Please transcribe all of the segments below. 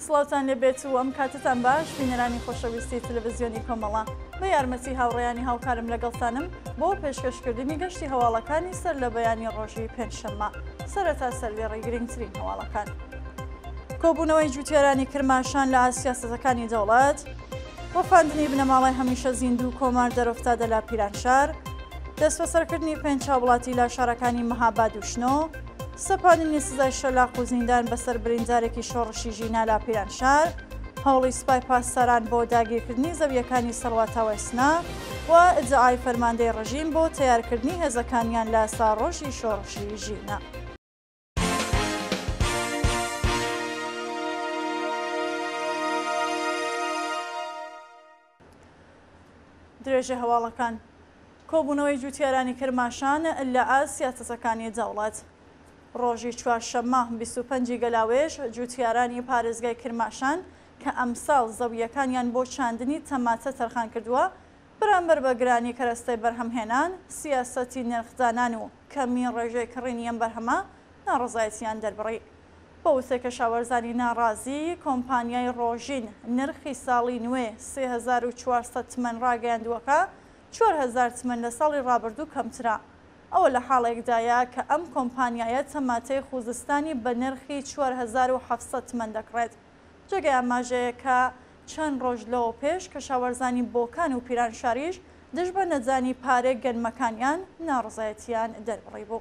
سڵاوتان لێ بێت و ئەم کاتەتان باش بینەرانی خۆشەویستی تەلەڤزیۆنی کۆمەڵە. بە یارمەتی هاوڕێیانی هاوکارم لەگەڵتانم بۆ پێشکەشکردنی گەشتی هەواڵەکانی سەر لە بەیانی ڕۆژی پێنجشەممە. سەرەتا سەردێڕی گرنگترین هەواڵەکان. کۆبوونەوەی جوتیارانی کرماشان لە ئاست سیاسەتەکانی دەوڵەت، ڕفاندنی بنەماڵەی هەمیشە زیندوو کۆمار دەرۆفتادە لە پیرانشار، دەستبەسەرکردنی پێنج هاوڵاتی لە شارەکانی مەهاباد و شنۆ، سەپاندنی سزای شەلاق و زیندان بەسەر بریندارێکی شۆڕشی ژینا لە پیرانشار، هەوڵی سوپای پاسداران بۆ داگیرکردنی زەوییەکانی سەڵواتاوای سنە و ئیدعای فەرماندەی ڕژیم بۆ تەیارکردنی هێزەکانیان لە ساڕۆژی شۆڕشی ژینا. درێژەی هەواڵەکان. کۆبوونەوەی جووتیارانی کرماشان لە ئاست سیاسەتەکانی دەوڵەت. ڕۆژی چوارشەممە 25 ی گەلاوێژ جووتیارانی پارێزگای کرماشان کە ئەمساڵ زەوییەکانیان بۆ چاندنی تەماتە تەرخان کردووە، بەرامبەر بە گرانی کەرەستەی بەرهەمهێنان، سیاسەتی نرخدانان و کەمی ڕێژەی کڕینی ئەم بەرهەمە ناڕەزایەتییان دەربڕی. بە وتەی کەشاوەرزانی ناڕازی، کۆمپانیای ڕۆژین نرخی ساڵی نوێ 3400 تمەن ڕاگەیاندووە کە 4000 تمەن لە ساڵی ڕابردوو کەمترە. ئەوە لە حاڵێکدایە کە ئەم کۆمپانیایە تەماتەی خوزستانی بە نرخی 4700 تمەن دەکڕێت. جێگەی ئاماژەیە کە چەند ڕۆژ لەوە پێش کەشاوەرزانی بۆکان و پیرانشاریش دژ بە نەدانی پارەی گەنمەکانیان ناڕەزایەتییان دەربڕیبوو.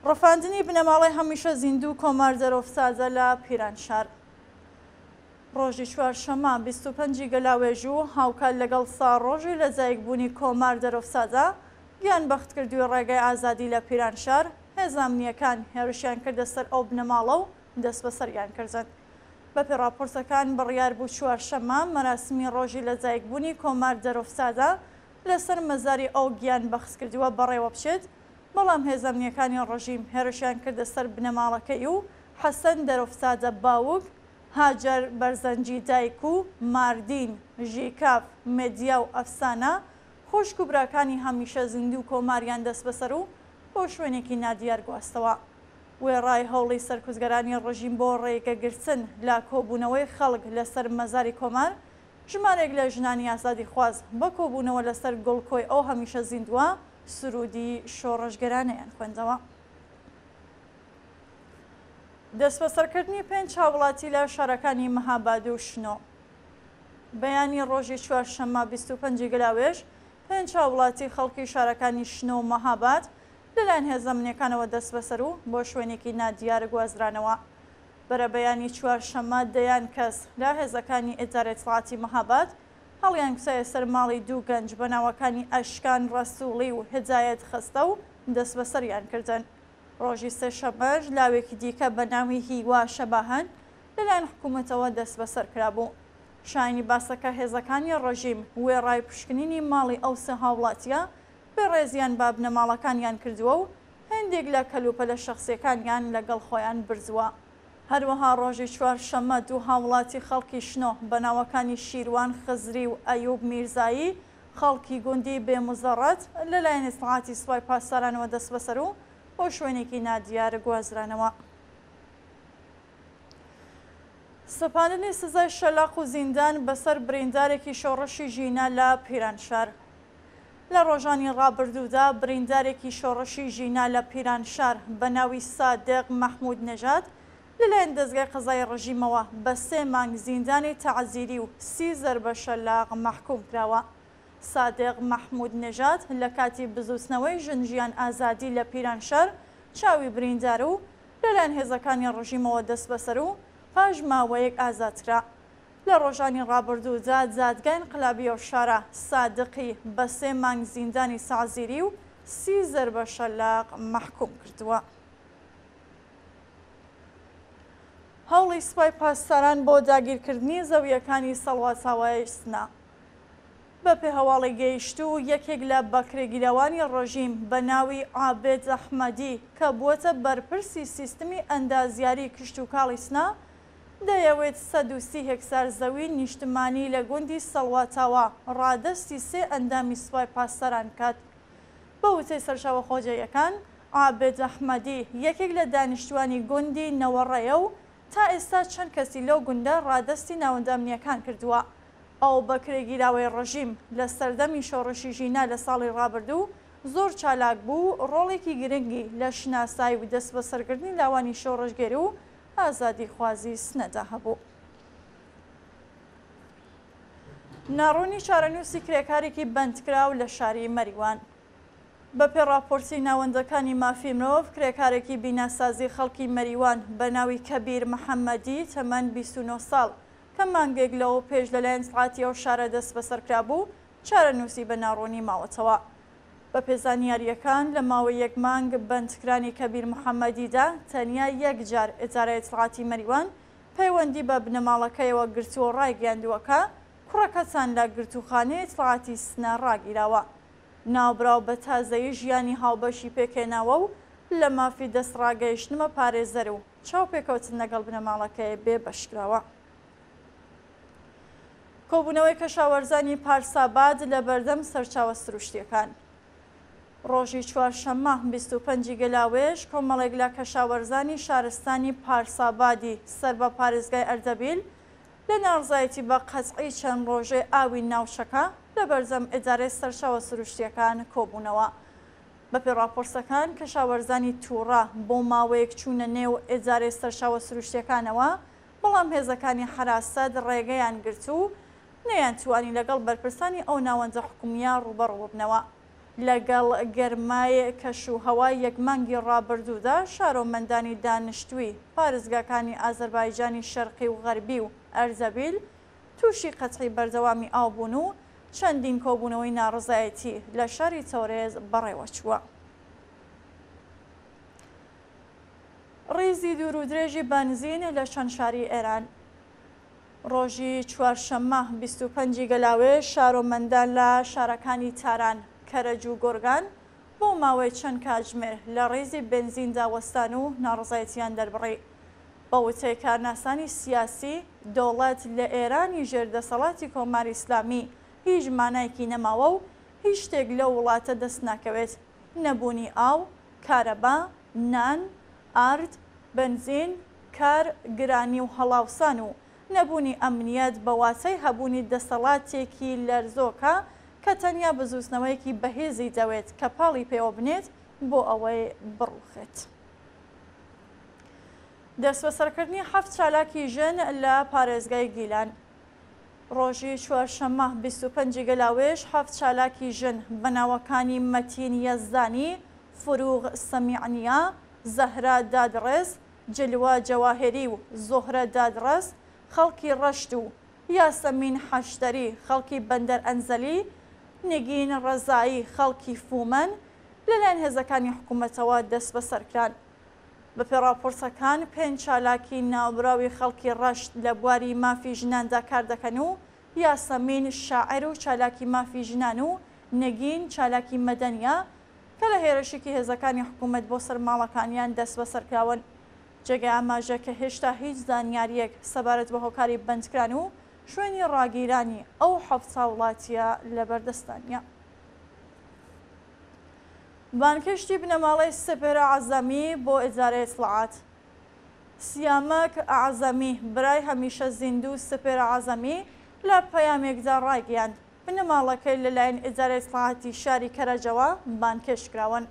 ڕفاندنی بنەماڵەی هەمیشە زیندوو کۆمار دەرۆفتادە لە پیرانشار. ڕۆژی چوارشەممە 25 ی گەلاوێژ و هاوکات لەگەڵ ساڕۆژی لەدایکبوونی کۆمار دەرۆفتادە، گیانبەختکردووی ڕێگای ئازادی لە پیرانشار، هێزە ئەمنییەکان هێرشیان کردە سەر ئەو بنەماڵە و دەستبەسەریان کردن. بەپێی ڕاپۆرتەکان بڕیار بوو چوارشەممە مەراسمی ڕۆژی لەدایکبوونی کۆمار دەرۆفتادە لەسەر مەزاری ئەو گیانبەختکردووە بەڕێوەبچێت، بەڵام هێزە ئەمنییەکانی ڕژیم هێرشیان کردە سەر بنەماڵەکەی و حەسەن دەرۆفتادە باوک، هاجەر بەرزەنجی دایک و ماردین، ژیکاف، مێدیا و ئەفسانە خوشک و براکانی هەمیشە زیندوو کۆماریان دەستبەسەر و بۆ شوێنێکی نادیار گواستەوە. وێڕای هەوڵی سەرکوتگەرانی ڕژیم بۆ ڕێگەگرتن لە کۆبوونەوەی خەڵک لەسەر مەزاری کۆمار، ژمارێک لە ژنانی ئازادیخواز بە کۆبوونەوە لەسەر گڵکۆی ئەو هەمیشە زیندووە سروودی شۆڕشگێرانەیان خوێندەوە. دەستبەسەرکردنی پێنج هاوڵاتی لە شارەکانی مەهاباد و شنۆ. بەیانی ڕۆژی چوارشەممە 25 ی گەلاوێژ، پێنج هاوڵاتی خەڵکی شارەکانی شنۆ و مەهاباد لەلایەن هێزە ئەمنییەکانەوە دەستبەسەر و بۆ شوێنێکی نادیار گوازرانەوە. بەرەبەیانی چوارشەممە دەیان کەس لە هێزەکانی ئیدارەی ئیتڵاعاتی مەهاباد هەڵیانکوتایە سەر ماڵی دوو گەنج بە ناوەکانی ئەشکان ڕەسووڵی و هیدایەت خەستە و دەستبەسەریان کردن. ڕۆژی سێشەممەش لاوێکی دیکە بە ناوی هیوا شەباهەن لەلایەن حکوومەتەوە دەستبەسەر کرابوو. شایانی باسە کە هێزەکانی ڕێژیم وێڕای پشکنینی ماڵی ئەو سێ هاووڵاتییە، بێڕێزییان بە بنەماڵەکانیان کردووە و هێندێک لە کەلوپەلە شەخسییەکانیان لەگەڵ خۆیان بردووە. هەروەها ڕۆژی چوارشەممە دوو هاووڵاتی خەڵکی شنۆ بە ناوەکانی شیروان خزری و ئەیوب میرزایی خەڵکی گوندی بێموزەڕەت لەلایەن ئیتڵاعاتی سوپای پاسدارانەوە دەستبەسەر و بۆ شوێنێکی نادیار گوازرانەوە. سەپاندنی سزای شەلاق و زیندان بەسەر بریندارێکی شۆڕشی ژینا لە پیرانشار. لە ڕۆژانی ڕابردوودا بریندارێکی شۆڕشی ژینا لە پیرانشار بە ناوی سادق مەحموود نەژاد لەلایەن دەزگای قەزایی ڕژیمەوە بە سێ مانگ زیندانی تەعزیری و سی زەربە شەلاق مەحکووم کراوە. سادق مەحموود نەژاد لە کاتی بزووتنەوەی ژن ژیان ئازادی لە پیرانشار چاوی بریندار و لەلایەن هێزەکانی ڕژیمەوە دەستبەسەر و پاش ماوەیەک ئازادکرا. لە ڕۆژانی ڕابردوودا دادگای ئینقلابی ئەو شارە سادقی بە سێ مانگ زیندانی تەعزیری و سی زەربە شەلاق مەحکووم کردووە. هەوڵی سوپای پاسداران بۆ داگیرکردنی زەوییەکانی سەڵواتاوای سنە. بەپێ هەواڵی گەیشتوو، یەکێک لە بەکرێگیراوانی ڕژیم بە ناوی عابد ئەحمەدی کە بووەتە بەرپرسی سیستمی ئەندازیاری کشتوکاڵی سنە، دەیەوێت 130 هێکتار زەوی نیشتمانی لە گوندی سەڵواتاوا ڕادەستی سێ ئەندامی سوپای پاسداران بکات. بە وتەی سەرچاوە خۆجێیەکان، عابد ئەحمەدی یەکێک لە دانیشتووانی گوندی نەوەڕەیە و تا ئێستا چەند کەسی لەو گوندە ڕادەستی ناوەندە ئەمنییەکان کردووە. ئەو بەکرێگیراوەی ڕژیم لە سەردەمی شۆڕشی ژینا لە ساڵی ڕابردوو زۆر چالاک بوو و ڕۆڵێکی گرنگی لە شناسایی و دەستبەسەرکردنی لاوانی شۆڕشگێر و ئازادیخوازی سنەدا هەبوو. ناڕوونی چارەنووسی کرێکارێکی بەندکراو لە شاری مەریوان. بەپێ ڕاپۆرتی ناوەندەکانی مافی مرۆڤ، کرێکارێکی بیناسازی خەڵکی مەریوان بە ناوی کەبیر محەممەدی تەمەن 29 ساڵ کە مانگێک لەوە پێش لەلایەن ئیتڵاعاتی ئەو شارە دەستبەسەر کرابوو، چارەنووسی بە ناڕوونی ماوەتەوە. بەپێ زانیارییەکان، لە ماوەی یەک مانگ بەندکرانی کەبیر محەممەدیدا تەنیا یەک جار ئیدارەی ئیتڵاعاتی مەریوان پەیوەندی بە بنەماڵەکەیەوە گرتووە و ڕایگەیاندووە کە کوڕەکەتان لە گرتووخانەی ئیتڵاعاتی سنە ڕاگیراوە. ناوبراو بە تازەیی ژیانی هاوبەشی پێکهێناوە و لە مافی دەستڕاگەیشتنمە پارێزەر و چاوپێکەوتن لەگەڵ بنەماڵەکەی بێبەشکراوە. کۆبوونەوەی کەشاوەرزانی پارساباد لە بەردەم سەرچاوە سروشتییەکان. ڕۆژی چوارشەممە 25 ی گەلاوێژ کۆمەڵێک لە کەشاوەرزانی شارستانی پارسابادی سەر بە پارێزگای ئەردەبیل لە ناڕزایەتی بە قەتعی چەند ڕۆژەی ئاوی ناوچەکە لە بەردەم ئیدارەی سەرچاوە سروشتییەکان کۆبوونەوە. بەپێی ڕاپۆرتەکان کەشاوەرزانی تووڕە بۆ ماوەیەک چوونە نێو ئیدارەی سەرچاوە سروشتییەکانەوە، بەڵام هێزەکانی حەراسەت ڕێگەیان گرت و نەیانتوانی لەگەڵ بەرپرسانی ئەو ناوەندە حکومییە ڕووبەڕوو ببنەوە. لەگەڵ گەرمای کەشوهەوای یەک مانگی ڕابردوودا، شارۆمەندانی دانشتووی پارێزگاکانی ئازەربایجانی شەرقی و غەربی و ئەردەبیل تووشی قەتعی بەردەوامی ئاو بوون و چەندین کۆبوونەوەی ناڕەزایەتی لە شاری تەورێز بەڕێوەچووە. ڕیزی دوور و درێژی بەنزین لە چەند شاری ئێران. ڕۆژی چوارشەممە 25 ی گەلاوێژ شارۆمەندان لە شارەکانی تاران، کەرەج و گۆرگان بۆ ماوەی چەند کاتژمێر لە ڕیزی بەنزیندا وەستان و ناڕەزایەتییان دەربڕی. بە وتەی کارناسانی سیاسی، دەوڵەت لە ئێرانی ژێر دەسەڵاتی کۆماری ئیسلامی هیچ مانایەکی نەماوە و هیچ شتێک لەو وڵاتە دەست ناکەوێت، نەبوونی ئاو، کارەبا، نان، ئارد، بەنزین، کار، گرانی و هەڵاوسان و نەبوونی ئەمنیەت بە واتای هەبوونی دەسەڵاتێکی لەرزۆکە کە تەنیا بزووتنەوەیەکی بەهێزی دەوێت کە پاڵی پێوە بنێت بۆ ئەوەی بڕووخێت. دەستبەسەرکردنی حەفت چالاکی ژن لە پارێزگای گیلان. ڕۆژی چوارشەممە 25 ی گەلاوێژ حەفت چالاکی ژن بە ناوەکانی مەتین یەزدانی، فروغ سەمیعنیا، زەهرا دادڕێس، جلوە جەواهێری و زوهرە دادڕەس خەڵکی ڕەشت و یاسەمین حەشتەری خەڵکی بەندەر ئەنزەلی، نگین ڕەزایی خەڵکی فومەن لەلایەن هێزەکانی حکوومەتەوە دەستبەسەرکران. بەپێ ڕاپۆرتەکان پێنج چالاکی ناوبراوی خەڵکی ڕەشت لە بواری مافی ژناندا کار دەکەن و یاسەمین شاعیر و چالاکی مافی ژنان و نگین چالاکی مەدەنییە کە لە هێرشێکی هێزەکانی حکوومەت بۆ سەر ماڵەکانیان دەستبەسەر کراون. جێگەی ئاماژە کە هێشتا هیچ زانیارییەک سەبارەت بە هۆکاری بەندکران و شوێنی ڕاگیرانی ئەو حەفت هاوڵاتییە لەبەردەستدا نییە. بانگهێشتی بنەماڵەی سپێرە عەزەمی بۆ ئیدارەی ئیتڵاعات. سیامەک ئەعزەمی، برای هەمیشە زیندوو سپێرە عەزەمی لە پەیامێکدا ڕایگەیاند، بنەماڵەکەی لەلایەن ئیدارەی ئیتڵاعاتی شاری کەرەجەوە بانگهێشت کراون.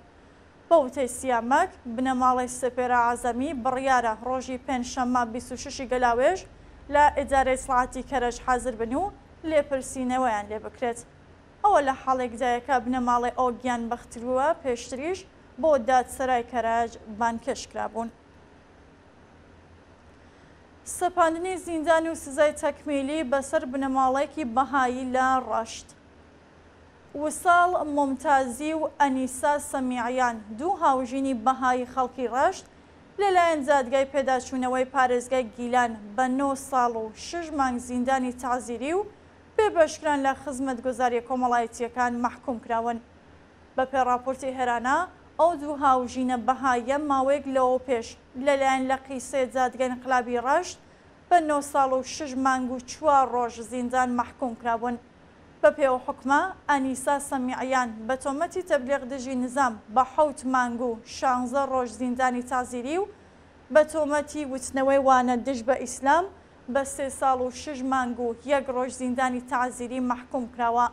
بە وتەی سیامەک، بنەماڵەی سپێرە عەزەمی بڕیارە ڕۆژی پێنجشەممە 26 ی گەلاوێژ لە ئیدارەی ئیتڵاعاتی کەرەج حازر بن و لێپرسینەوەیان لێ بکرێت. ئەوە لە حاڵێکدایە کە بنەماڵەی ئەو گیانبەختکرووە پێشتریش بۆ دادسەرای کەرەج بانگهێشت کرابوون. سەپاندنی زیندان و سزای تەکمیلی بەسەر بنەماڵەیەکی بەهایی لە ڕەشت. وساڵ مومتازی و ئەنیسا سەمیعیان، دوو هاوژینی بەهایی خەڵکی ڕەشت، لەلایەن دادگای پێداچوونەوەی پارێزگای گیلان بە نۆ ساڵ و شەش مانگ زیندانی تەعزیری و بێبەشکران لە خزمەتگوزارییە کۆمەڵایەتییەکان مەحکووم کراون. بەپێ ڕاپۆرتی هێرانا، ئەو دوو هاوژینە بەهاییە ماوەیەک لەوەوپێش لەلایەن لقی سێ دادگای ئینقلابی ڕەشت بە نۆ ساڵ و شەش مانگ و چوار ڕۆژ زیندان مەحکووم کرابوون. بەپێ ئەو حوکمە، ئەنیسا سەمیعیان بە تۆمەتی تەبلیغ دژی نزام بە حەوت مانگ و شانزە ڕۆژ زیندانی تەعزیری و بە تۆمەتی وتنەوەی وانە دژ بە ئیسلام بە سێ ساڵ و شش مانگ و یەک ڕۆژ زیندانی تەعزیری مەحکووم کراوە.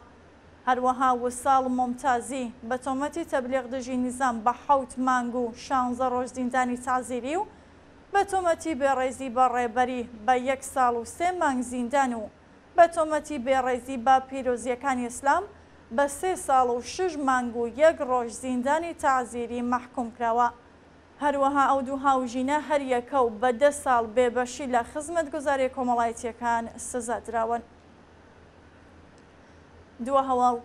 هەروەها وساڵ مومتازی بە تۆمەتی تەبلیغ دژی نیزام بە حەوت مانگ و شانزە ڕۆژ زیندانی تەعزیری و بە تۆمەتی بێڕێزی بە ڕێبەری بە یەک ساڵ و سێ مانگ زیندان و بە تۆمەتی بێڕێزی بە پیرۆزییەکانی ئیسلام بە سێ ساڵ و شش مانگ و یەک ڕۆژ زیندانی تەعزیری مەحکووم کراوە. هەروەها ئەو دوو هاوژینە هەریەکە و بە دە ساڵ بێبەشی لە خزمەتگوزارییە کۆمەڵایەتییەکان سزا دراون. دوا هەواڵ،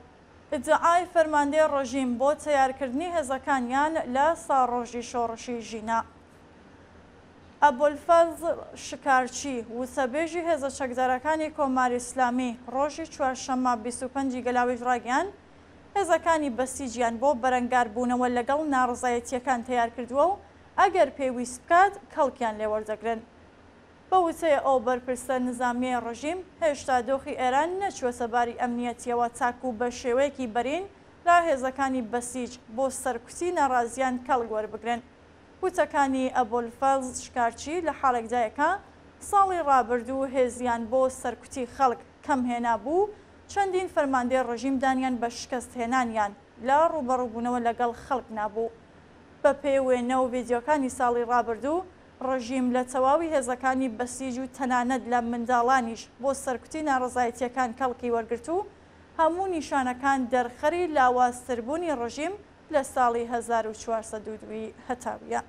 ئیدعای فەرماندەی ڕژیم بۆ تەیارکردنی هێزەکانیان لە ساڕۆژی شۆڕشی ژینا. ئەبولفەزڵ شکارچی، وتەبێژی هێزە چەکدارەکانی کۆماری ئیسلامی ڕۆژی چوارشەممە 25 ی گەلاوێژ ڕایگەیاند، هێزەکانی بەسیجیان بۆ بەرەنگاربوونەوە لەگەڵ ناڕەزایەتییەکان تەیار کردووە و ئەگەر پێویست بکات کەڵکیان لێ وەردەگرن. بە وتەی ئەو بەرپرسە نزامییەی ڕژیم، هێشتا دۆخی ئێران نەچووەتە باری ئەمنییەتییەوە تاکوو بە شێوەیەکی بەرین لە هێزەکانی بەسیج بۆ سەرکوتی ناڕازییان کەڵک وەربگرن. وتەکانی ئەبولفەزڵ شکارچی لە حاڵێکدایە کە ساڵی ڕابردوو هێزیان بۆ سەرکوتی خەڵک کەم هێنابوو و چەندین فەرماندەی ڕژیم دانیان بە شکەست هێنانیان لە ڕووبەڕووبوونەوە لەگەڵ خەڵک نابوو. بە پێی وێنە و ڤیدیۆکانی ساڵی ڕابردوو، ڕژیم لە تەواوی هێزەکانی بەسیج و تەنانەت لە منداڵانیش بۆ سەرکوتی ناڕەزایەتییەکان کەڵکی وەرگرت و هەموو نیشانەکان دەرخەری لاوازتربوونی ڕژیم لە ساڵی 1402 ی هەتاوییە.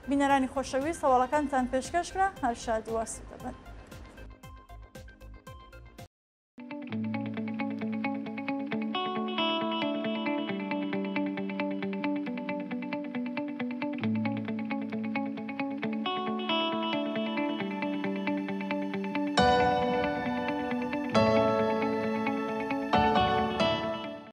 بینەرانی خۆشەویست هەواڵەکانتان پێشکەش کرا، هەر شاد و ئاسوودە بن.